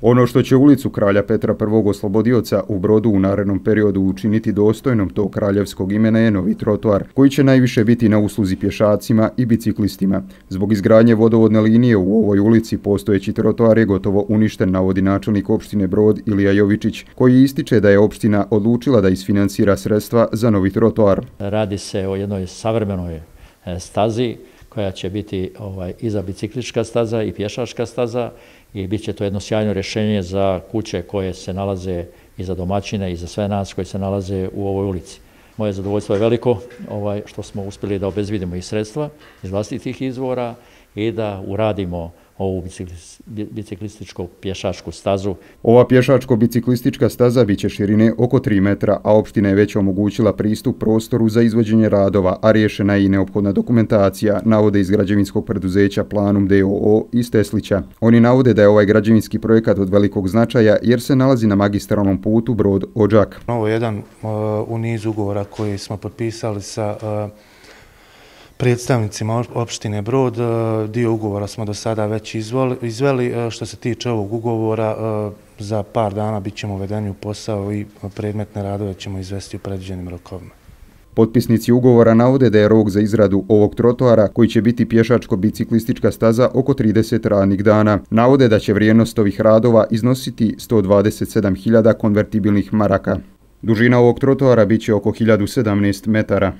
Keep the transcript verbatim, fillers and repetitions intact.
Ono što će ulicu Kralja Petra prvog oslobodioca u Brodu u narednom periodu učiniti dostojnom tog kraljevskog imena je novi trotoar, koji će najviše biti na usluzi pješacima i biciklistima. Zbog izgradnje vodovodne linije u ovoj ulici postojeći trotoar je gotovo uništen, navodi načelnik opštine Brod Ilija Jovičić, koji ističe da je opština odlučila da isfinansira sredstva za novi trotoar. Radi se o jednoj savremenoj stazi koja će biti ovaj, i za biciklička staza i pješačka staza i bit će to jedno sjajno rješenje za kuće koje se nalaze i za domaćine i za sve nas koji se nalaze u ovoj ulici. Moje zadovoljstvo je veliko ovaj, što smo uspjeli da obezvidimo i sredstva iz vlastitih izvora i da uradimo ovu biciklističku pješačku stazu. Ova pješačko-biciklistička staza bit će širine oko tri metra, a opština je već omogućila pristup prostoru za izvođenje radova, a riješena je i neophodna dokumentacija, navode iz građevinskog preduzeća Planum d o o iz Teslića. Oni navode da je ovaj građevinski projekat od velikog značaja jer se nalazi na magistralnom putu Brod-Odžak. Ovo je jedan uh, u nizu ugovora koji smo potpisali sa uh, predstavnicima opštine Brod. Dio ugovora smo do sada već izveli. Što se tiče ovog ugovora, za par dana bit ćemo uvedeni u posao i predmetne radove ćemo izvesti u predviđenim rokovima. Potpisnici ugovora navode da je rok za izradu ovog trotoara, koji će biti pješačko-biciklistička staza, oko trideset radnih dana. Navode da će vrijednost ovih radova iznositi sto dvadeset sedam hiljada konvertibilnih maraka. Dužina ovog trotoara bit će oko hiljadu sedamnaest metara.